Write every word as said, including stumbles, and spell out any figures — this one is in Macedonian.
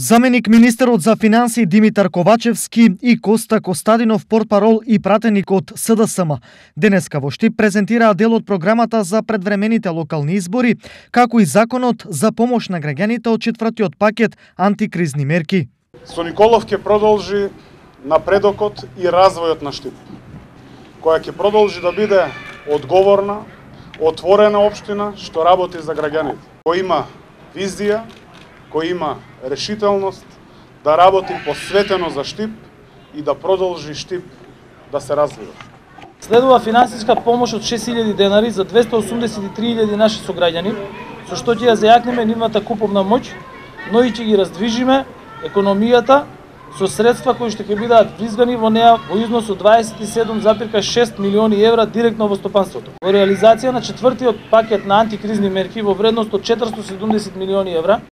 Заменик министерот за финансии Димитар Ковачевски и Коста Костадинов, портпарол и пратеник од С Д С М, денеска во Штип презентираа дел од програмата за предвремените локални избори, како и законот за помош на граѓаните од четвртиот пакет антикризни мерки. Со Николов ќе продолжи напредокот и развојот на Штип, која ќе продолжи да биде одговорна, отворена општина што работи за граѓаните, кој има визија, кој има решителност да работи посветено за Штип и да продолжи Штип да се развива. Следува финансиска помош од шест илјади денари за двесте осумдесет и три илјади наши сограѓани, со што ќе ја зајакнеме нивната куповна моќ, но и ќе ги раздвижиме економијата со средства кои што ќе бидат вризгани во неа во износ од дваесет и седум зарез и шест милиони евра директно во стопанството. Во реализација на четвртиот пакет на антикризни мерки во вредност од четиристотини и седумдесет милиони евра,